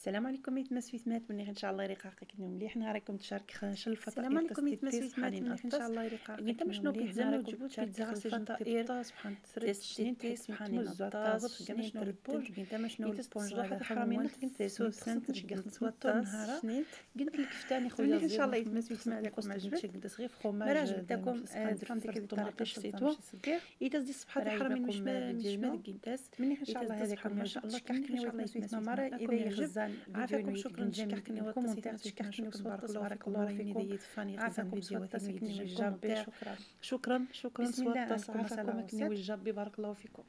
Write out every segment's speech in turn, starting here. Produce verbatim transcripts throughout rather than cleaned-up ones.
السلام عليكم ميت مسويثمات مني ان شاء الله يريقاقك اليوم مليح نهاركم تشارك خاش الفطائر. السلام عليكم ميت مسويثمات مني ان شاء الله يريقاقك انت مشنو بيتزا وجبت بيتزا غاسي الفطائر سبحان تريت سنين تسبحان الطاز كما شنو البونج انت مشنو البونج هذا حرامين كنت سوسن تشقخ نسوطر سنين قلت لك فتاني خويا ان شاء الله يتمسويث معكم عجبك صغير فخوماج داكم درت ديك الطريقه شتيتو اذا دي صبحات الحرامين مش مش ما كنتاس مني ان شاء الله هذاك ما شاء الله كحكني ويتمسويث مرة اذا يعجب عافاكم شكرا تشكحكني وكومونتير تشكحكني بارك الله فيكم الله يديد فاني غزان فيديو تسكني وجابي شكرا شكرا شكرا بسم الله عافاكم كني وجابي بارك الله فيكم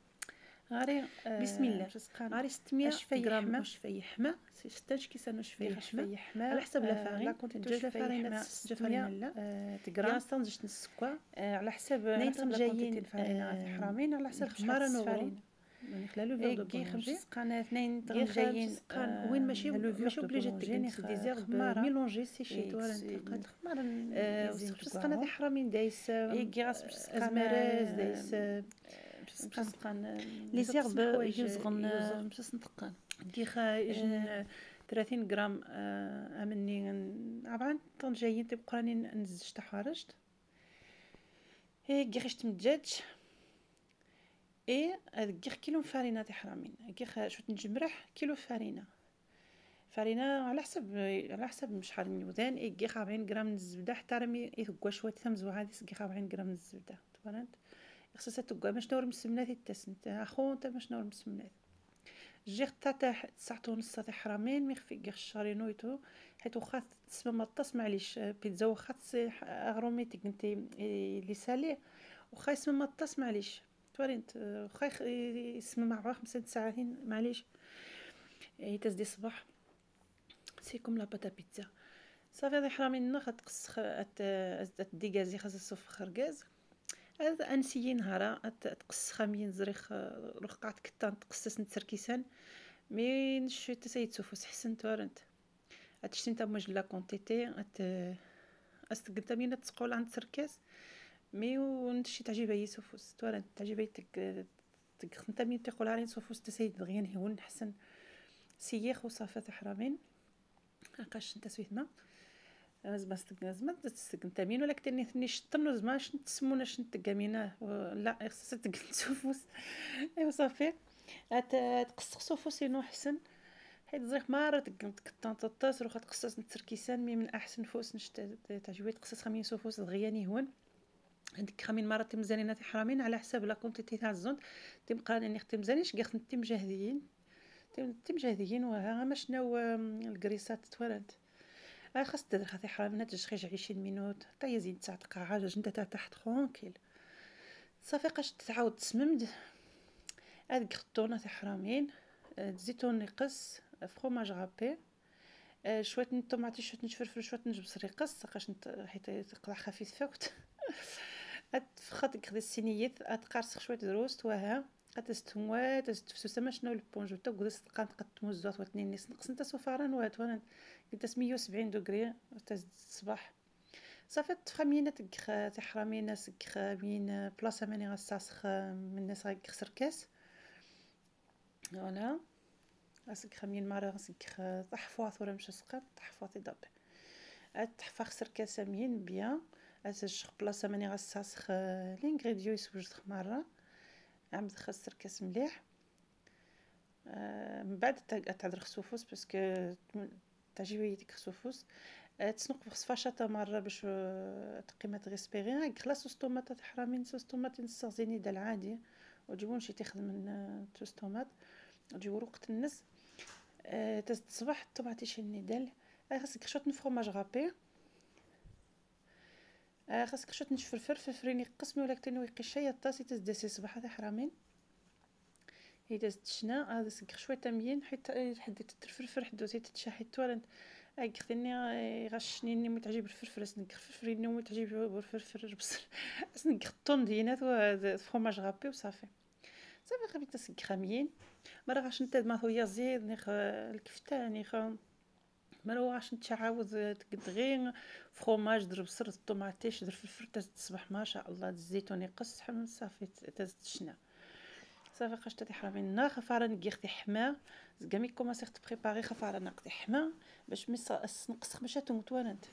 غاري بسم الله غاري ستمية غرام شفاي حمى ستاش كيسانو شفاي شفاي حمى على حسب لا فارين لا كنت جوج فارينه فارينه لا تغرام استنجت السكوا على حسب نيتهم جايين فارينه حرامين على حسب خماره فارينه من خلالو فيغ دو كي خمس سقان اثنين غير جايين سقان وين ماشي ماشي اوبليجي تجيني ديزير ميلونجي سي شي تو قد خمار سقان هذا حرامين دايس اي كيغاس ازمراز دايس سقان لي زيرب يزغن باش نطقان دي خاجن ثلاثين غرام امني طبعا طون جايين تبقى راني نزج تحارجت هي غيرشت مدجاج اي هذيك كيلو فارينه تاع حرامين كي شوت نجمرح كيلو فارينه فارينه على حسب على حسب شحال من وذان اي كي أربعين غرام الزبده حتى رمي يثقوا شويه ثمزو هذه كي أربعين غرام الزبده تبانت خصها تقوا باش نور مسمنات التسنت اخو انت باش نور مسمنات جيت تاع تسعة ونص تاع حرامين مي خفي غير الشارينويتو حيت واخا تسمى مطاس معليش بيتزا واخا اغروميتيك انت لي سالي واخا يسمى مطاس معليش تورينت واخا يسمى مع خمسة ساعات معليش اي تزدي الصباح سي كوم لا باتا بيتزا صافي هذا حرامين ناخذ تقص الديكازي خاص الصف خرقاز هذا انسيي نهارا تقص خامين زريخ رقعت كتان تقصص نتركيسان مي نشي تسيد سوفوس حسن تورنت هادشي نتا موج لا كونتيتي ات استقدامينا تسقول عند تركاز مي ونشي تعجب هي سوفوس تورنت تعجب تك تك نتا مين تقول على سوفوس تسيد دغيا هون حسن سيخ وصافات حرامين هاكاش نتا سويتما زعما زعما تستقنتامين ولا كتني ثني شطنو زعما شنو تسموناش نتقاميناه لا خصها تقن سوفوس ايوا صافي تقص سوفوس انه حسن حيت زريق مره تقنت كطان طاس روخا تقصص نتركيسان مي من احسن فوس نشت تعجبني تقصص خمين سوفوس دغياني هون هذيك خمين مره تمزانينا تاع حرامين على حساب لا كونتيتي تاع الزون تبقى اني ختم مزانيش كاع تم جاهدين تم جاهدين وها ما شنو الكريسات تورنت خاص تدير خاطي حرامين تجي عشرين مينوت حتى يزيد تاع دقائق انت تاع تحت ترونكيل صافي قاش تعاود تسممد هذيك خطونه تاع حرامين زيتون يقص فروماج غابي شويه الطوماطي شويه نشفرفر شويه نجبس يقص قاش حيت يقطع خفيف فوت خاطك خدي السينيات اتقرص شويه دروست وها قتستموا تستفسو ما شنو البونجو تا قدس تقان تقطمو الزوط واثنين نص نقص نتا سفران وات وانا قلت مية وسبعين دوغري تا الصباح صافي تفخمينا تاع حرامينا سكخامين بلاصه ماني غاساسخ من الناس غيخسر كاس فوالا اسك خمين مره غاسك تحفاظ ولا مش سقط تحفاظ داب تحفا خسر كاسامين بيان اسج بلاصه ماني غاساسخ لينغريديو يسوج مره عم تخسر كاس مليح آه من بعد تعذر خسوفوس باسكو تعجبني ديك خسوفوس آه تسنق في فاشطه مره باش تقيمه غيسبيري خلاص الطوماط تاع حرامين صوص طوماط نستخدمني دال عادي وتجيبون شي تاخذ من توست طوماط تجيبوا وقت النس آه تصبح الطوماطي شني دال آه خاصك شويه فروماج غابي آه خاصك شويه نشفرفر فرفريني قسمي ولا كتنو يقشايه الطاسي تزدسي صباح هذا حرامين هي دازت شنا هذا سك شويه تميين حيت حديت تفرفر حدوتي تتشاحي تورنت اي خدني غشنيني متعجب الفرفر اسنك فرفريني متعجب الفرفر بصر اسنك خطون دينات وفرماج غابي وصافي صافي خبيت سك خاميين مره غاش نتا ما هو زيد نخ الكفتاني خ مرة عاش نتعاود تقدغين فروماج در بصر الطوماطيش در فلفل تصبح ما شاء الله الزيتون يقص حمل صافي تزت شنا صافي قاش تاتي حرامين نا خفاره نقيختي حما زكامي كوماسيغ تبريباري خفاره نقطي حما باش مس نقص باش تموتوانت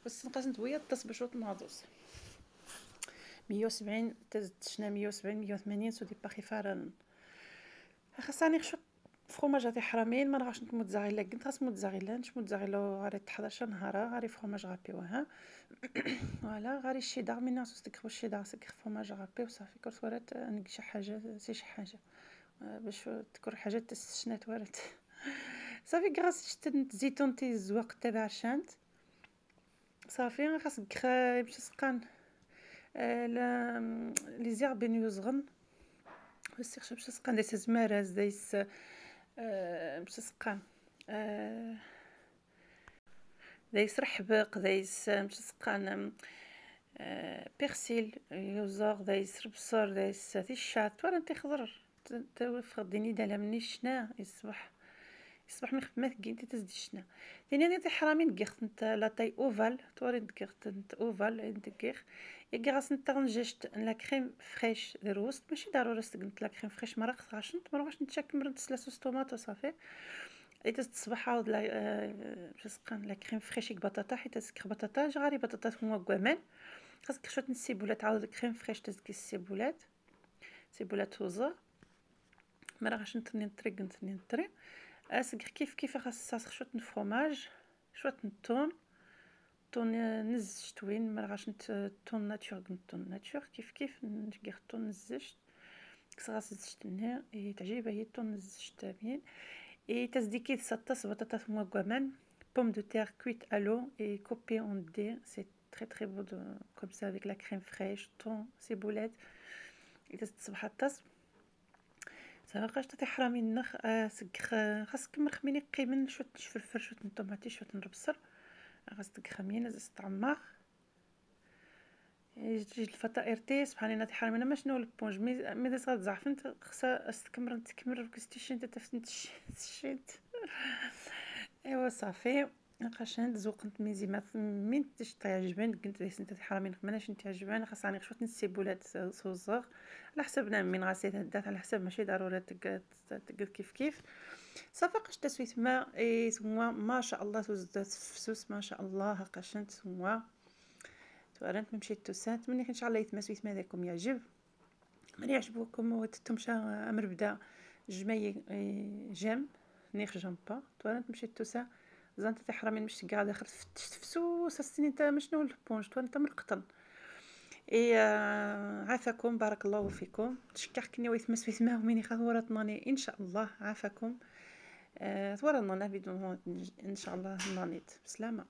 بس نقص نتويا تصبش وتناضوس مية وسبعين تزدشنا مية وسبعين مية وثمانين سو دي باخي فارن خاصني نخشط فروماج تاع حرامين ما نغاش نتموتزاريلا كنت خاص موتزاريلا نش موتزاريلا غاري حداش نهار غاري فروماج غابيوها فوالا غاري الشيدار من ناس تكخو الشيدار سكخ فروماج غابي وصافي كرت ورات نك شي حاجه سي شي حاجه باش تكر حاجه تسشنات ورات صافي غاس شتت زيتون تي الزواق تبع شانت صافي خاصك باش تسقان لا لي زيرب يوزغن بس باش تسقان دايس زمارز دايس باش تسقان دايس رحبق دايس باش تسقان بيرسيل يوزغ دايس بصر دايس تيشات ولا انت خضر تفقديني دالا مني شنا يصبح يصبح من خدمه كي انت تزدي شنا ثاني انا تي حرامي نقيخت انت لا تاي اوفال توري نقيخت انت اوفال ندقيخ يا غاس انت نجشت لا كريم فريش دروست ماشي ضروري تقنت لا كريم فريش مرق غاشنت ما واش نتشكل مرت ثلاثه طوماط وصافي اي تصبح عاود لا باش تسقان لا كريم فريش بطاطا حيت تسكر بطاطا جاري بطاطا هما كوامان خاصك شويه السيبولات عاود كريم فريش تزكي السيبولات سيبولات وزر ما راهش نتني نطريق نتني نطري اسكر كيف كيف خاص شويه الفرomage شويه الثوم طون نز شتوين ما راهش طون ناتور طون ناتور كيف كيف نجي طون نزشت كسراس زشتني اي تعجبها هي طون نزشت بين اي تزديكي سطس بطاطا موا كوامان pomme de terre cuite à l'eau et coupée en dés c'est très très beau de, comme ça avec la crème fraîche thon ciboulette et تصبح الطاس صافي تاع حرامي النخ سكخ خاصك مرخميني قيمن شويه الفلفل شويه الطوماطي شويه البصل خاصك تخمين زعما تعمر يجي الفطائر تي سبحان الله تاع حرامي انا ما شنو البونج مي مي داس زعفنت خصها تكمر تكمر كستيشن تفتنت شيت ايوا صافي قاشنت زوقت ميزي ما من تش تعجبني قلت لي انت حرامي ماناش انت عجباني خاصني شويه السيبولات صوصغ على حسبنا من غاسيت هدات على حسب ماشي ضروري تقاد تقاد كيف كيف صافي قاش تسويت ما اي سوا ما شاء الله توزدات فسوس ما شاء الله قاشنت سوا تورنت مشيت توسات مني ان شاء الله يتمسويت ما داكم يعجب من يعجبكم وتتمشى امر بدا جماي جام نيخ جامبا تورنت مشيت توسا زانت تاع حرامي مش قاعد داخل فتشت فسوس السنين انت مشنو البونج انت من القطن اي عافاكم بارك الله فيكم تشكركني ويتمس في ثماه ومني خورتناني ان شاء الله عافاكم أه تورا بدون ان شاء الله نانيت بسلامه.